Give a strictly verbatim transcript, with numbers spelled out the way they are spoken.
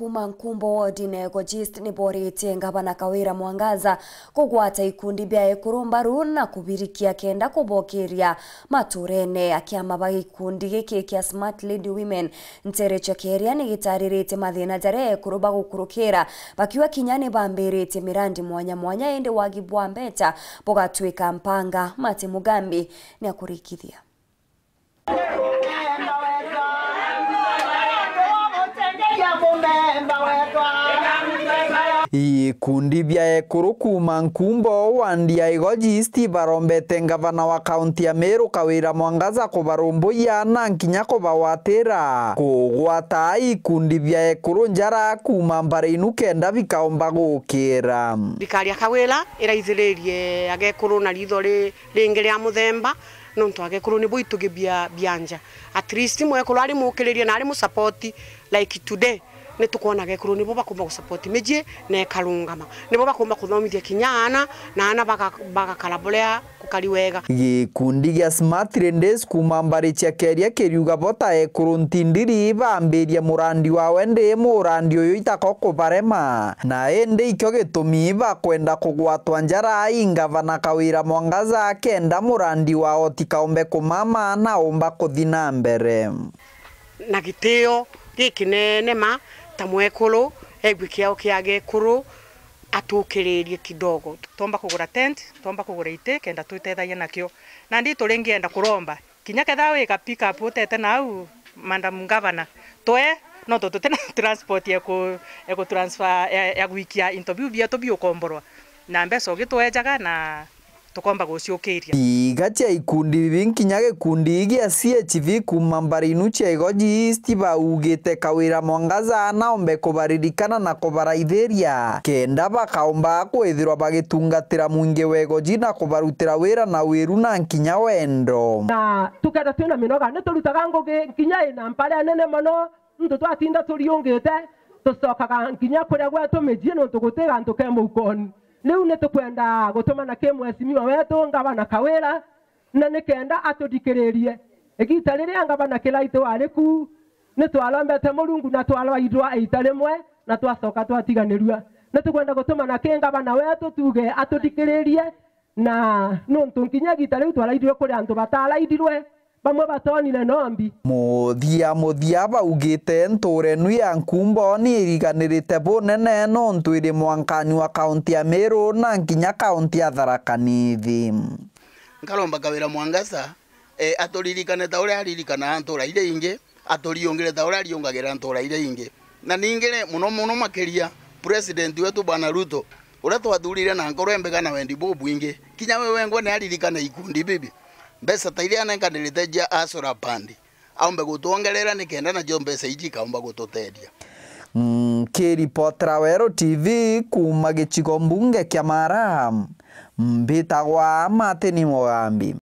Kuma Nkumbo wodine Ego East ni boritie Ngavana Kawira Mwangaza kugwata ikundi bia ekuru mbaru na kubirikia kenda kubokeria maturene. Akiama ba gikundi giki kia Smart Lady Women, Ntere Chekeria ni gitariritie mathina jaria ekuru bagukurukira, bakiuga kinya ni bambiritie mirandi mwanya mwanya, indi wagi bwa mbeca bugatwika mpanga. Mati Mugambi ni akurikithia. Ikundi bia ekuru kuma Nkumbo wandi ya Igoji East barombete ngavana wa kaunti ya Meru Kawira Mwangaza kubarumbuya na nkinya kubawatira kugwata ikundi bia ekuru njara kuma mbari inu kenda bikaomba gukira. Thirikari ya Kawira iraithiririe agekuru na ritho ri-, ringi ria muthemba, nontu agekuru nibo itugi bia, bia nja. At least mwekuru ari mukiririe na ari mu support, like today, ni tukwona agekuru nibo bakumba gu support mijii na ikarungama. Nibo bakumba kuthomithia kinya aana, na aana baga-, bagakara buria kukari wega. Gikundi gia Smart Ladies kuma mbari cia Keria kiriuga bo ta ekuru ntindiri bambirie murandi wawe ndi murandi uyu itako kubarema, na indi ikio gitumi bakwenda kugwatwa njara i ngavana Kawira Mwangaza kenda murandi wao tikaombe kumama na umba kuthi na mbere. Na gitio gikinene ma ta mwekuru, egue kiao kia gekuru, atukiririe kidogo. Twomba kugura tent, twomba kugura iti, kenda twitethagia nakio. Nandi turingienda kuromba, kinya ketha wi ka pick up utete nau, Madam Governor, twe, no tu tutina transport ya ku, ya ku transfer, ya, ya gwikia into biu bietu biukomborwa. Na mbeca ugitwejaga na tukomba guciukiria. Iga cia ikundi bibi nkinya gikundi gia C H V kuma mbari inu cia Igoji East baugite Kawira Mwangaza naombe kubaririkana na kubaraithiria, kenda bakaomba kwithirwa bagitungatira mwingi wa Igoji na kubarutira wira na wiru na nkinya wendo. Na tukenda twina minoga, ni turutaga ngugi nkinya ina mpara nene mono, nontu twatinda turiungite, tucokaga nkinya kuria gwetu mijii, nontu guti gantu ke muukoni. Riu ni tukwenda gutumana ki mheshimiwa wetu, Ngavana Kawira, na ni kenda atuthikiririe. Igita riria Ngavana Kiraitu wari ku, ni twarombete Murungu na twarwairwa iita rimwe, na twacoka twatiganirua. Ni tukwenda gutumana ki ngavana wetu, tuuge atuthikiririe, na nontu nkinya igita riu twaraithirwe kuri antu bataraithirwe, bamwe batonire nombi. Muthia muthia baugite ntuura inu ya Nkumbo ni iriganirite bunene nontu iri mwankani wa kaunti ya Meru na nkinya kaunti ya Tharaka Nithi. Nkaromba Kawira Mwangaza, eh, aturirikane ta uria aririkanaga ntuura iria ingi, aturiungire ta uria ariungagira ntuura iria ingi. Na ningi ri, muno muno makiria, President wetu Bwana Ruto, uria twathurire na nkoro imbega na wendi bubwingi, kinya we wengwa ni aririkane ikundi bibi. Mbeca ta iria anenkanirite cia Asura Fund, aumbe gutwongerera nikenda nacio mbeca iji ikaumba gututeethia. Nkiripotera Weru T V kuma gicigo mbunge kia Mara, mbitagwa Martin Mugambi.